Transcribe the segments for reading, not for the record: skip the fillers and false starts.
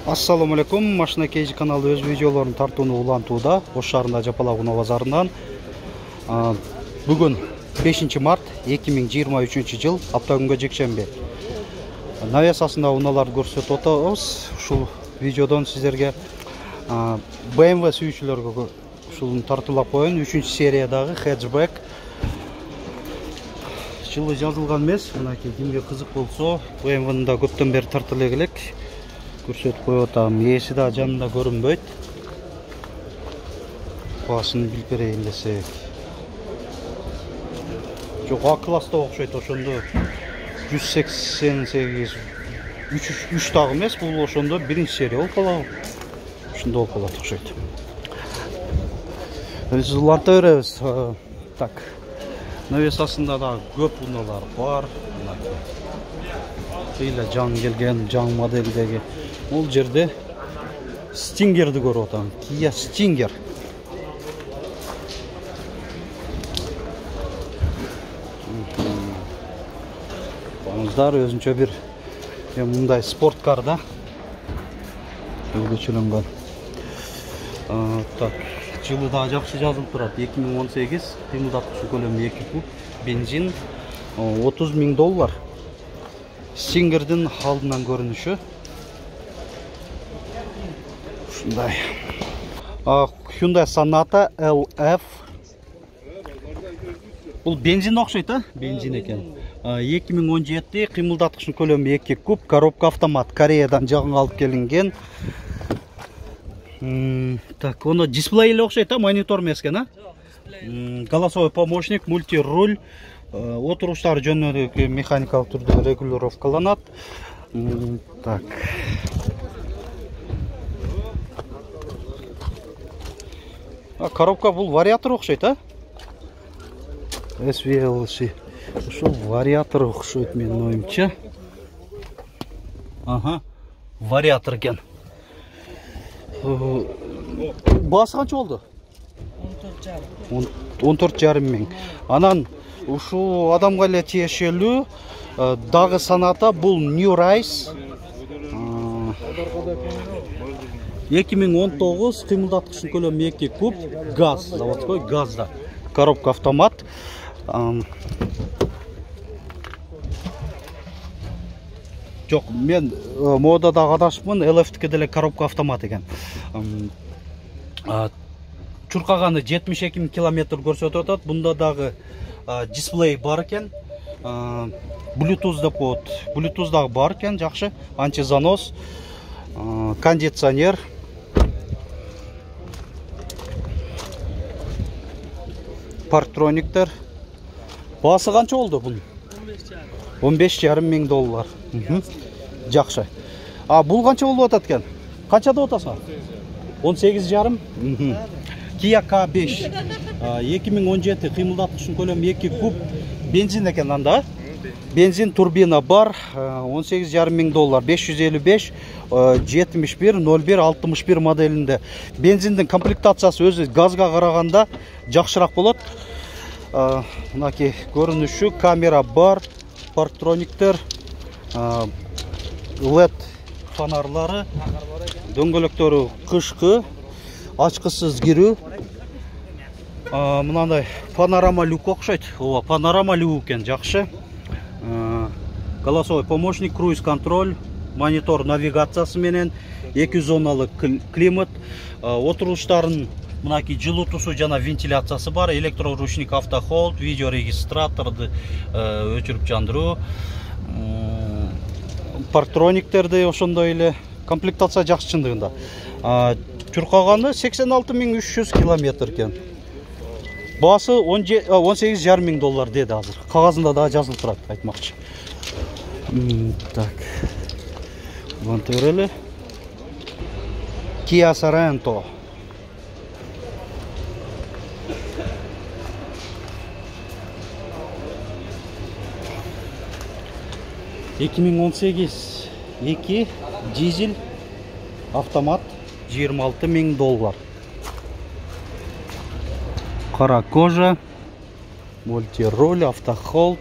Assalamu alaikum. Машина Кейжи каналы өз видеолорун тартууну улантууда. Ош шаарында Жапалак унаа базарынан. Бүгүн 5 март 2023 жыл, апта күнгө жекшемби. Навесасында унааларды көрсөтүп атабыз. Ушул видеодон сиздерге BMW сүйүүчүлөргө ушул тартуулап коюн. 3-сериядагы хэтчбэк. Жылы жазылган эмес. Мынакей кимге кызык болсо, BMW-ны да көптөн бери тартып элек. Көрсөтүп коюп атам. Ээси да жанында көрүнбөйт. Баасын билип берейин десек. Жок, А класста окшойт, ошондо 188 3 дагы эмес, бул ошондо 1-серия болуп калабы. Ушунда болуп калат окшойт. Уланта беребиз. Так. Навесасында да көп унаалар бар. Кыйла жаң келген, жаң моделдеги. Бул жерде Стингерди көрүп атам. Kia Stinger. Баңыздар өзүнчө бир мындай спорткар да. Өзгөчөлөнгөн. Так, жылы да жакшы жазылып турат. 2018, кыймылдаткычы көлөмү 2 куб, бензин $30,000. Stingerдин алдынан көрүнүшү. Ушундай. Hyundai Sonata LF. Бул бензин окшойт, бензин экен. 2017, кыймылдаткычын көлөмү 2 куб, коробка автомат, Кореядан жагынга алып келинген. Так, оно дисплей эле окшойт, монитор эмес экен, Голосовой помощник, мультируль, отуруштар жөнүндө механикалык түрдө регулировкаланат. Так. Коробка бул вариатор окшойт, SVLC. Ушул вариатор окшойт менин оюмча. Вариатор экен. Баасы канча болду? 14,5 миң. Анан ушул адамга эле тиешелүү дагы Sonata, бул New Rise. 2019, кыймылдаткычын көлөмү 2 куб, газ, заводской газда. Коробка автомат. Жок, мен модада адашыпмын, LF-тики деле коробка автомат экен. Чуркаганы 72,000 километр көрсөтүп атат. Бунда дагы дисплей бар экен. Bluetooth деп коет. Bluetooth дагы бар экен, жакшы. Антизанос, кондиционер. Парктрониктер. Баасы канча болду бунун? $15,5 миң. Жакшы. Бул канча болуп атат экен? Канча деп атасың? 18,5. Kia K5. 2017, кыймылдаткычын көлөмү 2 куб, бензин экен анда. Бензин турбина бар, $18,5 миң, 555 71 01 61 моделинде. Бензиндин комплектациясы өзү газга караганда жакшыраак болот. Мынакей көрүнүшү, камера бар, парктрониктер, LED фонарлары, дөңгөлөктөрү кышкы, ачкысыз кирүү. Мынандай панорама люк окшойт. Панорама люк экен, жакшы. Голосовой помощник, круиз контроль, монитор навигациясы менен, 2 зоналык климат, отуруштарын мынакей жылытуусу жана вентиляциясы бар, электроручник, автохолд, видеорегистраторду өчүрүп жандыруу, парктрониктерди ошондой эле. Комплектация жакшы чындыгында. Чуркаганы 86,300 километр экен. Баасы $18,5 миң деди азыр. Кагазында да жазылып турат, айтмакчы. Так. Уланта берели. Kia Sorento. $2 дизель автомат, $26 миң. Кара кожа, мультируль, автохолд.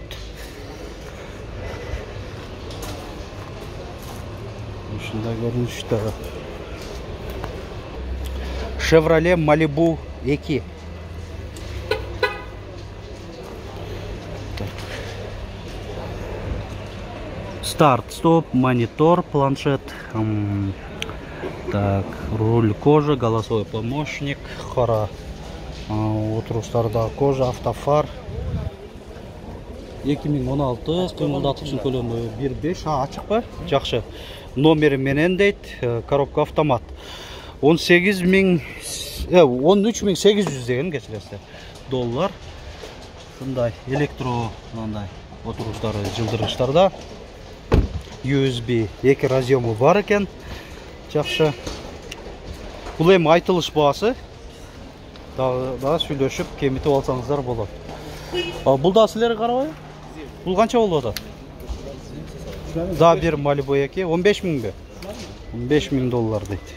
ушундай көрүнүштө. Chevrolet Malibu 2. Старт, стоп, монитор, планшет. Так, руль кожа, голосовой помощник, кара отуруштарда кожа, автофар. 2016 кыймылдатуучун көлөмү 1.5. Ачык ба? Жакшы. Номери менен дейт, коробка автомат. 13.800 деген кечиресиз доллар. Ушундай электро мындай отуруштары жылдыргычтарда. USB 2 разъему бар экен. Жакшы. Бул эми айтылыш баасы. Дагы сүйлөшүп, кемитип алсаңыздар болот. Бул да силерге карабай? Бул канча болуп атат? Да бир Malibu 2 15.000 бе? 15.000 доллар дейт.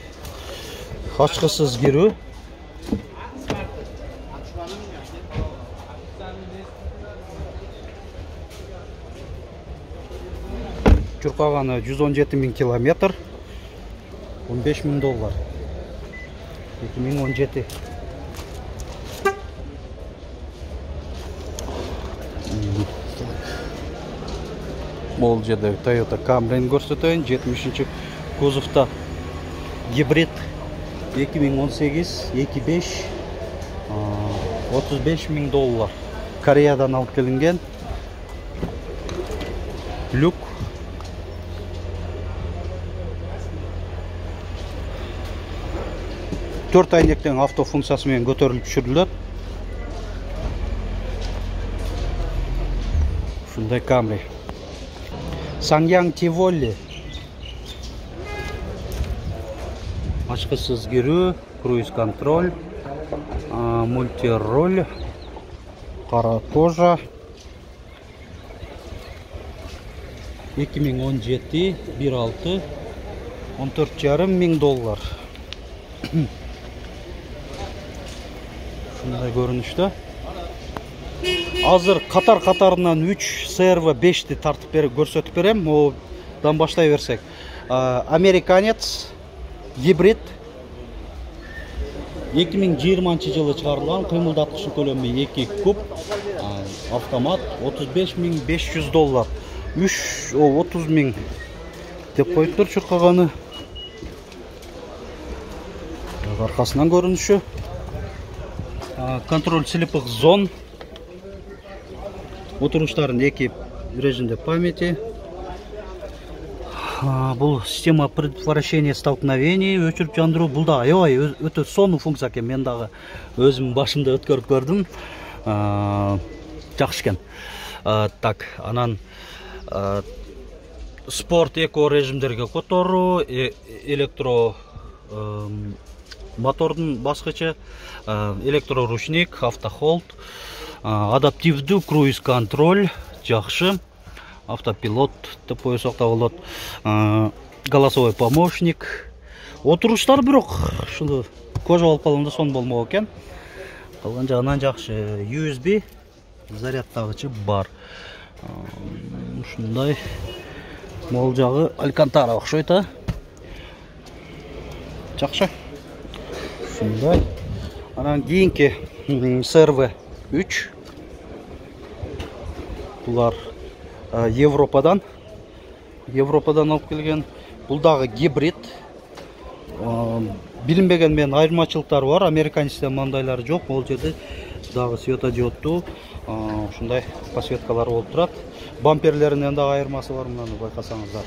Ачкысыз кирүү. Чуркаганы 117.000 километр. 15.000 доллар. 2017. Бул жерде Toyota Camry көрсөтөйүн. 70 кузовта гибрид 2018 2.5 35.000 доллар. Кореядан алып келинген. Люк. Төрт айнектен автофункциясы менен көтөрүлүп түшүрүлөт. Ушундай Camry. Sanyang Tivoli. Ачкысыз кирүү, круиз контроль, мультироль, кара кожа. 2017 1.6 14.500 доллар. Ушундай көрүнүштө. Азыр катарынан 3 CRV 5-ти тартып берип көрсөтүп берем. Одан баштай берсек. Американец гибрид 2020 жылы чыгарылган, кыймылдаткычы көлөмү 2 куб, автомат 35.500 доллар. 30.000 деп коюптур чуркаганы. Аркасынан көрүнүшү. Контроль слепых зон. Отуруштарын 2 режимде памяти. Бул система предотвращения столкновений, өчүрүп жандыруу. Бул да аябай өтө сонун функция экен. Мен дагы өзүм башымда өткөрүп көрдүм. Жакшы экен. Так, анан спорт эко режимдерге которуу, электро мотордун баскычы, электроручник, автохолд, адаптивдүү круиз контроль, жакшы. Автопилот деп койсок да болот. Голосовой помощник. Отуруштар бирок ушул кожа болуп калганда сон болмок экен. Калган жагынан жакшы. USB зарядтагычы бар. Ушундай мол жагы Алькантара окшойт, Жакшы. Ушундай. Анан кийинки CRV 3. Булар Европадан алып келген. Бул дагы гибрид. Билинбеген менен айырмачылыктары бар. Американецте мандайлары жок. Бул жерде дагы светодиоддуу ушундай подсветкалар болуп турат. Бамперлеринен дагы айырмасы бар, мынаны байкасаңыздар.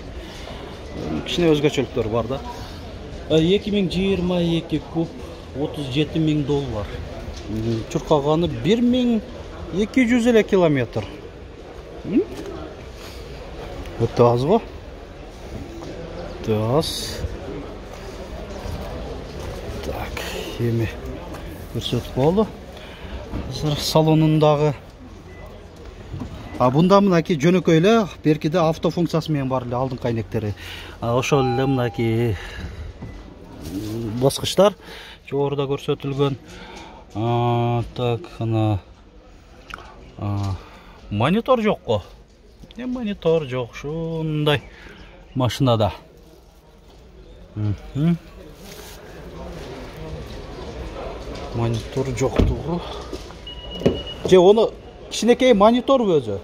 Кичине өзгөчөлүктөр бар да. 2022 куб 37.000 доллар. Чуркаганы 1200 эле километр. Өтө аз го. Өтө аз. Так, эми көрсөтүп болду. Азыр салонундагы. Бунда мынакей жөнөкөй эле, беркиде автофункциясы менен бар эле алдыңкы айнектери. Ошол эле мынакей баскычтар жогоруда көрсөтүлгөн. Так, ана монитор жок го. Монитор жок ушундай машинада. Монитор жоктугу. Же оны кичинекей мониторбу өзү?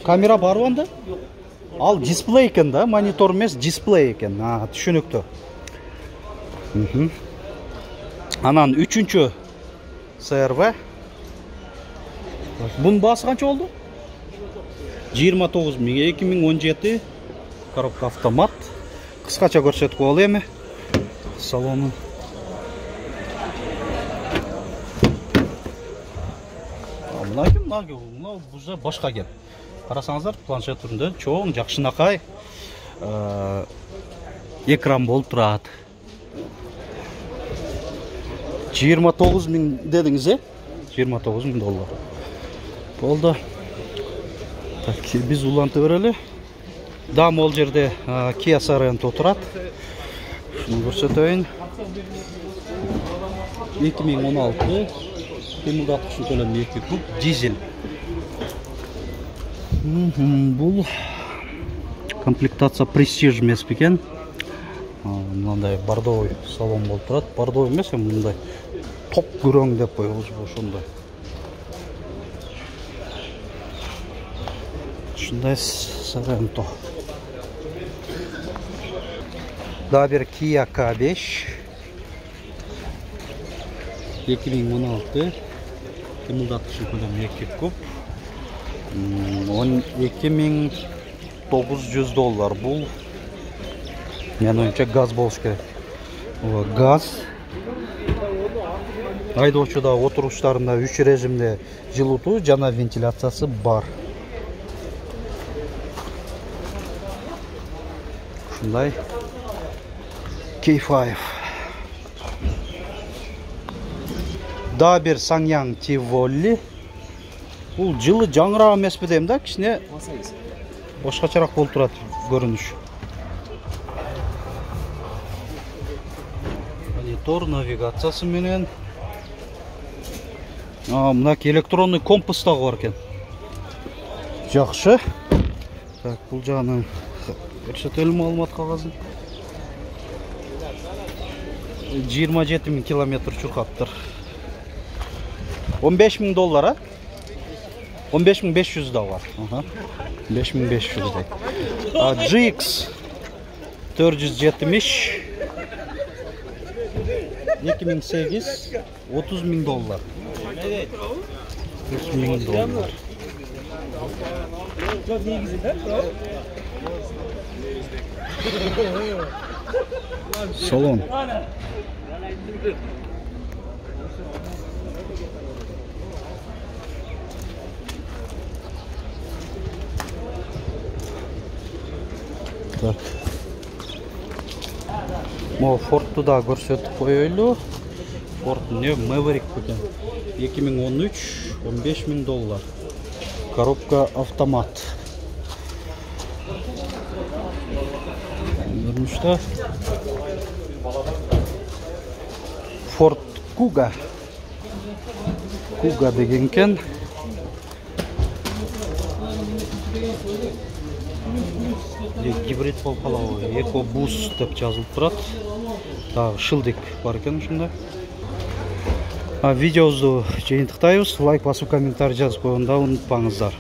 Камера барбы анда? Ал дисплей экен да, монитор эмес, дисплей экен. Түшүнүктүү. Анан 3-чү CRV. Бунун баасы канча болду? 29 000, 2017 коробка автомат. Кыскача көрсөтүп коелу эми салонун. Мына буза башка экен. Карасаңыздар, планшет түрүндө чоң, жакшынакай экран болуп турат. 29 000 дедиңиз, 29 000 доллар. Болду. Так, биз уланты берели. Дам ол жерде Kia Sorento турат. Шуну көрсөтөйүн. 2016 кыймылдаткычын төлөм 2 куб дизель. Бул комплектация Prestige эмес бекен. Мындай бордовый салон болуп турат. Бордовый эмес, мындай топ күрөң деп коебузбу ошондой. Ушундай Sorento. Дагы бир Kia K5 2016 кыймылдаткычын көлөмү 2 куб. 12900 доллар. Бул менин оюмча газ болуш керек. Газ. Айдоочуда отуруштарында 3 режимде жылытуу жана вентиляциясы бар. Ушундай K5. Дагы бир Sanyang Tivoli. Бул жылы жаңырак эмеспи дейм да, кичине башкачараак болуп турат көрүнүш. Монитор навигациясы менен. Мына электронный компас дагы бар экен. Жакшы. Так, бул жагынан көрсөтөлүм маалымат кагазын. 27 000 километр чуркаптыр. 15 000 доллар, 15 500 да бар. 5500 дейт. GX 470 2008 30 000 доллар. 30 000 доллар. Салон. Так. Мо Ford'ду да көрсөтүп коелу. Ford Maverick экен. 2013 15 000 доллар. Коробка автомат. Görünüşte Ford Kuga degenken гибрид болуп калабы, EcoBoost деп жазылып турат. Дагы шылдык бар экен ушунда. Видеобузду жыйынтыктайбыз. Лайк басып, комментарий жазып койгонду унутпаңыздар.